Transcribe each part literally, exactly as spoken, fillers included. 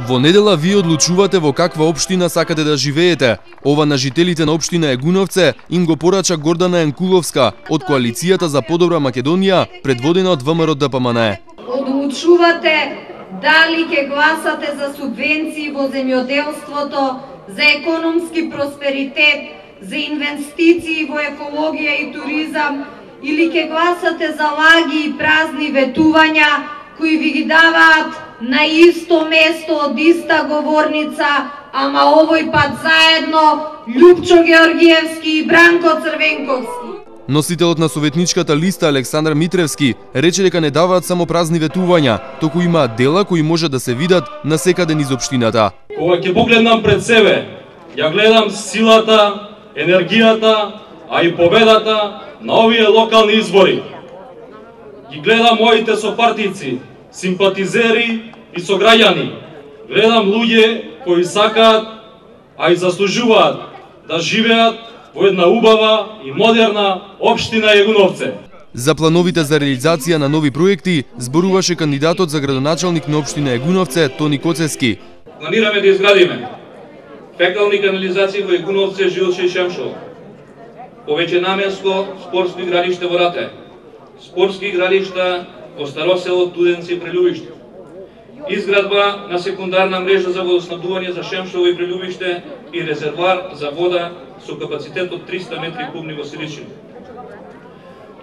Во недела вие одлучувате во каква општина сакате да живеете. Ова на жителите на општина Егуновце им го порача Гордана Енкуловска од Коалицијата за подобра Македонија, предводена од ВМРО-ДПМН. Одлучувате дали ќе гласате за субвенции во земјоделството, за економски просперитет, за инвестиции во екологија и туризам, или ќе гласате за лаги и празни ветувања кои ви ги даваат на исто место од иста говорница, ама овој пат заедно Љупчо Георгиевски и Бранко Црвенковски. Носителот на советничката листа Александар Митревски рече дека не даваат само празни ветувања, туку имаат дела кои може да се видат на секаде низ општината. Кога ќе погледнам пред себе, ја гледам силата, енергијата, а и победата на овие локални избори. Ги гледам моите сопартици, симпатизери и сограѓани. Гледам луѓе кои сакаат, а и заслужуваат да живеат во една убава и модерна општина Егуновце. За плановите за реализација на нови проекти зборуваше кандидатот за градоначалник на општина Егуновце Тони Коцески. Планираме да изградиме фекални канализации во Егуновце, Жилче и Шемшово, повеќе наменско спортско игралиште во Рате, спортски игралишта во Старосело, Туденци и Прелюбиште, изградба на секундарна мрежа за водоснабдување за Шемшово и Прелюбиште и резервоар за вода со капацитет од триста метри кубни во Силичино.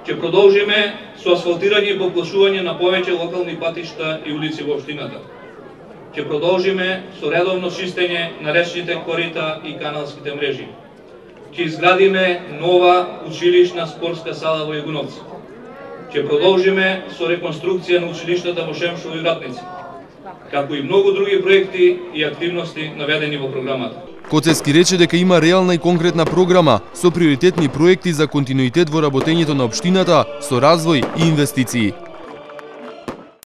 Ќе продолжиме со асфалтирање и поплашување на повеќе локални патишта и улици во општината. Ќе продолжиме со редовно чистење на речните корита и каналските мрежи. Ќе изградиме нова училишна спортска сала во Егуновци. Ќе продолжиме со реконструкција на училиштата во Шемшово и Вратници, како и многу други проекти и активности наведени во програмата. Коцески рече дека има реална и конкретна програма со приоритетни проекти за континуитет во работењето на општината со развој и инвестиции.